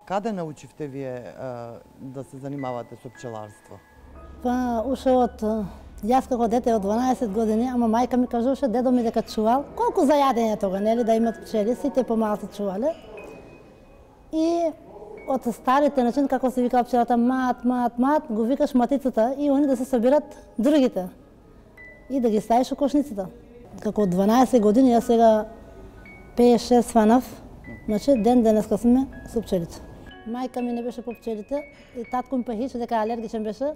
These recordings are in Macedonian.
Каде научивте вие да се занимавате со пчеларство? Па уште од јас како дете од 12 години, ама мајка ми кажуваше дедо ми дека чувал, колку за јадење тога, нели, да имат пчели, сите помалку чувале. И од старите начин, како се викала пчелата, мат, го викаш матицата и они да се собират другите. И да ги ставиш у кошницата. Како од 12 години, јас сега 5-6 фанав, значи ден денеска сме со пчелите. Мајка ми не беше по пчелите и татко ми пахише дека алергичен беше.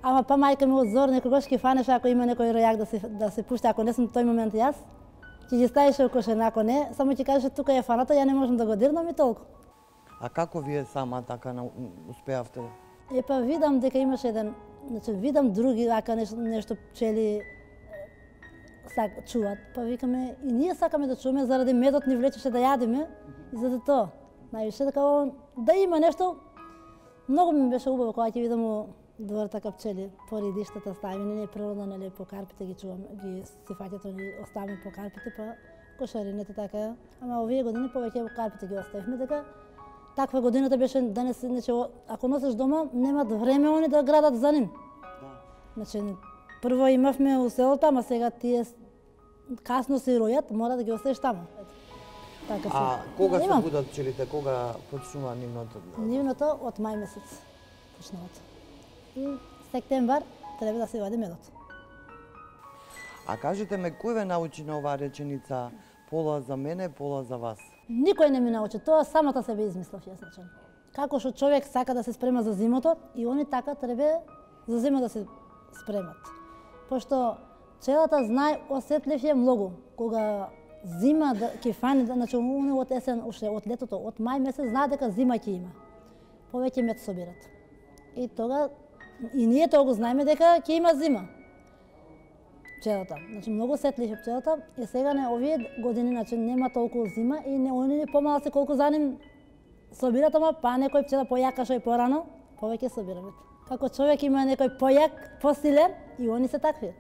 Ама па мајка ми одзор некогаш ќе фанеше ако има некој ројак да се пушти, ако не сум тој момент јас, ќе ги ставише у кошена, ако не, само ќе кажеше тука е фаната, ја не можам да го дирнам и толку. А како вие сама така успеавте? Па видам дека имаше еден, значи видам други ака нешто пчели чуват, па викаме и ние сакаме да чуваме заради медот ни влечеше да јадиме и за тоа. Највише дека да има нешто. Многу ми беше убаво кога ќе видам у двор така пчели по редиштата ставени, не природно, нели, по карпите ги чувам, ги си фаќат, ги оставаме по карпите, па кошарините така. Ама овие години повеќе карпите ги оставивме, дека таква годината беше денес, значи ако носиш дома, немат време они да градат за ним. Значи прво имавме у селото, ама сега тие касно се ројат, мора да ги оставиш таму. Така а кога се будат пчелите, кога почнува нивното? Нивното од мај месец почнуваат. И септемвар треба да се вади медот. А кажете ме, кој ве научи на оваа реченица пола за мене, пола за вас? Никој не ми научи, тоа самата себе измислав јас начин. Како што човек сака да се спрема за зимото, и они така треба за зима да се спремат. Пошто пчелата знае осетлив е многу. Кога зима да ќе фани, значи од есен, уште од летото, од мај месец знае дека зима ќе има. Повеќе мед собират. И тога и ние тоа го знаеме дека ќе има зима. Пчелата, значи многу сетлив е пчелата и сега не овие години, значи нема толку зима и не они помало се колку за ним собират, ама па некој пчела појака што и порано, повеќе собираме. Како човек има некој појак, посилен и они се такви.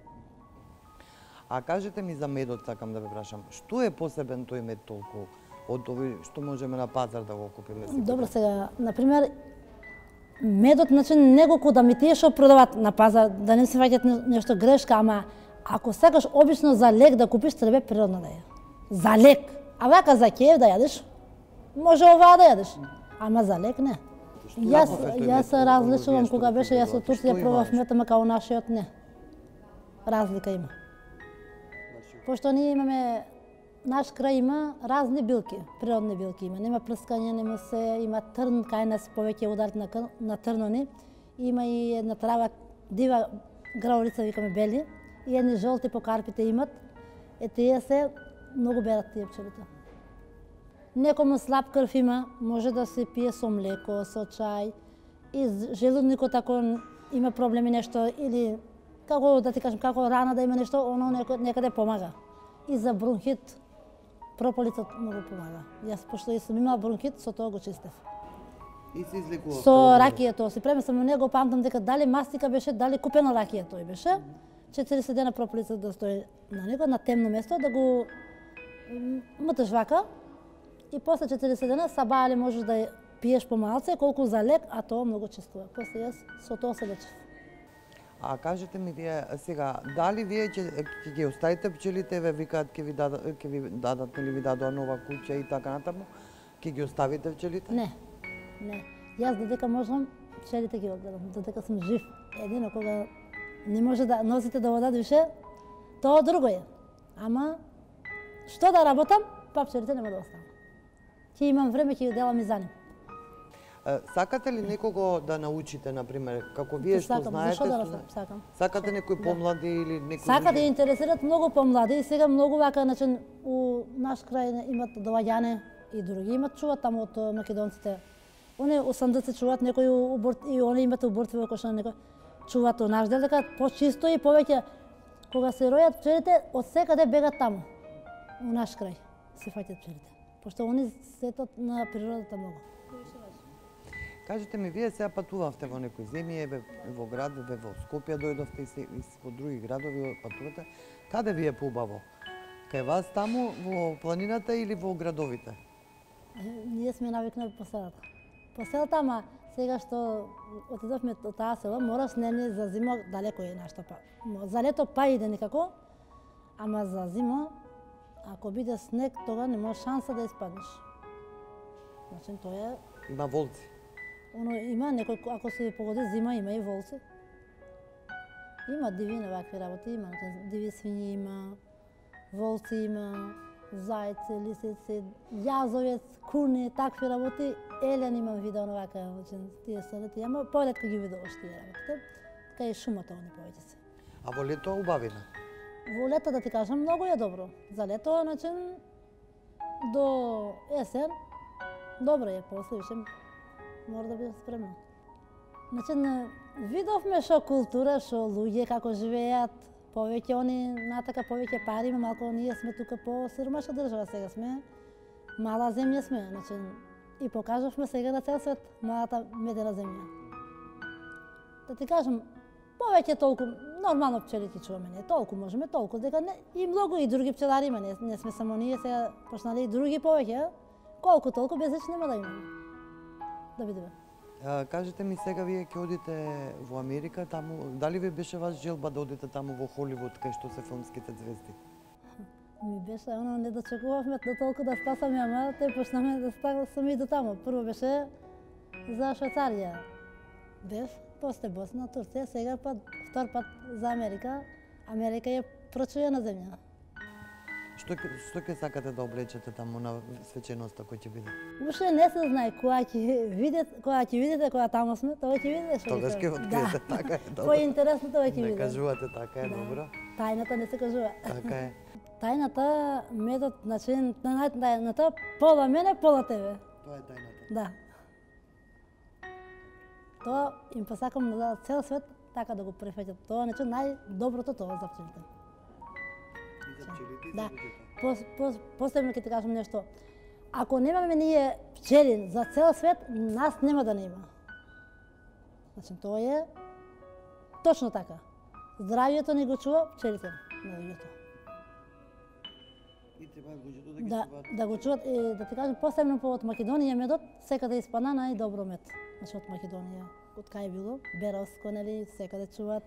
А кажете ми за медот, сакам да ве прашам. Што е посебен тој мед толку од овој што можеме на пазар да го купиме? Добро, сега, например, медот, значи не го куда ми тие што продават на пазар, да не се фаќат нешто грешка, ама ако сакаш обично за лек да купиш, треба природно да е. За лек. А вака за кеф да јадеш, може оваа да јадеш, ама за лек не. Јас различувам кога беше, јас од Турција пробав мед, ама као нашиот не. Разлика има. Пошто ние имаме, наш крај има разни билки, природни билки има. Нема прскање, нема се, има трн, кај нас повеќе удар на трнони. Има и една трава, дива граулица, викаме бели, и едни жолти по карпите имат. Тие се многу берат тие пчелите. Некому слаб крв има, може да се пие со млеко, со чај. И желудникот ако има проблеми нешто или како да ти кажам, како рана да има нешто, оно некаде помага. И за бронхит, прополисот многу помага. Јас пошто и сум имала бронхит, со тоа го чистев. И се излекува? Со ракија тоа се премесам, не го памтам дека дали мастика беше, дали купена ракија тој беше. 40 дена прополисот да стои на него, на темно место, да го мтеш вака. И после 40 дена сабајали можеш да пиеш помалце, колку за лек, а тоа многу чистува. После јас со тоа се лечев. А кажете ми вие сега, дали вие ќе ги оставите пчелите, ве викаат ќе ви дадат или ви дадоа нова куќа и така натаму, ќе ги оставите пчелите? Не. Јас додека можам, пчелите ги одгледам, додека сум жив. Едино кога не може да носите да одат више, тоа друго е. Ама што да работам, па пчелите нема да оставам. Ќе имам време, ќе ги делам и за нив. Сакате ли некого да научите, например, како вие што знаете? Сакам. Сакате некои помлади или некои? Сакате да интересират многу помлади и сега многу вака, значи у наш крај имат доаѓане и други имат чуват таму од македонците. Они 80 чуват, некои и они имат убортви во кошна, некои чуват у наш дел, дека почисто и повеќе кога се ројат пчелите, од секаде бегат таму. У наш крај се фаќат пчелите. Пошто они сетат на природата многу. Кажете ми, вие сега патувавте во некои земји, во град, во Скопје дојдовте и во други градови патувате. Каде ви е поубаво? Кај вас таму во планината или во градовите? Ние сме навикнали по селата. по селата, ама сега што отидовме од таа село, мораш не за зима далеко е нашто па. За лето па иде никако, ама за зима, ако биде снег, тога нема шанса да испаднеш. Значи, тоа е... Има волци. Има некој, ако се погоди зима, има и волци. Има диви на вакви работи, има диви свињи, има волци, има зајци, лисици, јазовец, куни, такви работи. Елен имам видео на вака, тие солети, ама поретко ги видуваш тие работите. Така и шумата они повеќе се. А во лето убавина? Во лето, да ти кажам, многу е добро. За лето, значи, до есен, добро е, после више мора да биде спремно. Значи, видовме шо култура, шо луѓе како живеат, повеќе они натака повеќе пари, малку ние сме тука по сиромашка држава, сега сме мала земја сме, значи и покажавме сега на цел свет малата медена земја. Да ти кажам, повеќе толку нормално пчели ти чуваме, не толку можеме, толку дека не, и многу и други пчелари има, не сме само ние, сега почнали и други повеќе, колку толку без реч нема да имаме. Да видиме. Кажете ми сега, вие ќе одите во Америка, таму, дали ви беше ваш желба да одите таму во Холивуд, кај што се филмските звезди? Ми беше, не дочекувавме до толку да стасаме, ама те почнаме да стасаме и до таму. Прво беше за Швајцарија. Бев, после Босна, Турција, сега пат, втор пат за Америка. Америка е прочуена земја. Што ќе сакате да облечете таму на свеченоста кој ќе биде? Уште не се знае, кога ќе видите кога таму сме, тоа ќе видите што. Тогаш ќе откриете, така е, добро. Поинтересно тоа ќе видите. Не кажувате, така е, добро. Тајната не се кажува. Така е. Тајната метод, значи, тајната пола мене, пола тебе. Тоа е тајната. Да. Тоа им посакам за цел свет така да го прифаќат. Тоа значи најдоброто тоа за пчелите. И за пчелите, и за Да. луѓето. Посебно ќе ти кажам нешто. Ако немаме ние пчели за цел свет, нас нема да не има. Значи, тоа е точно така. Здравието ни го чува пчелите на луѓето. И треба луѓето да ги Да, чуваат. да го чуват, да ти кажам, посебно од Македонија медот, секаде испадна најдобро мед. Значи, од Македонија, од кај било, Беровско, нели, секаде чуваат.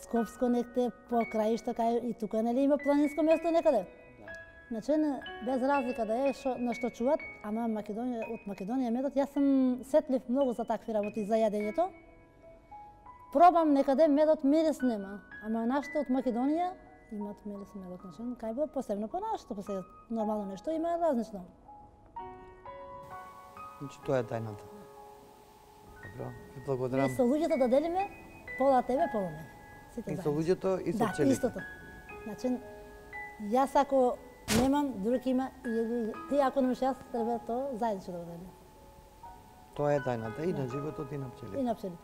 Скопско некте, по краишта, кај и тука, нели, има планинско место некаде. Значи, без разлика да е на што чуват, ама од Македонија медот, јас сум сетлив многу за такви работи, за јадењето. Пробам некаде медот мирис нема, ама нашето од Македонија имат мирис медот, значи, кај било посебно по нашето, посебно нормално нешто има различно. Значи, тоа е тајната. Добро, ви благодарам. И со луѓето да делиме, пола тебе, пола мене. Сите И со заедно. луѓето, и со Да, пчелите. истото. Значи, јас ако немам, друг има, и ти ако немаш јас, треба тоа заедничко да го делиме. Тоа е тајната и на животот и на пчелите. И на пчелите.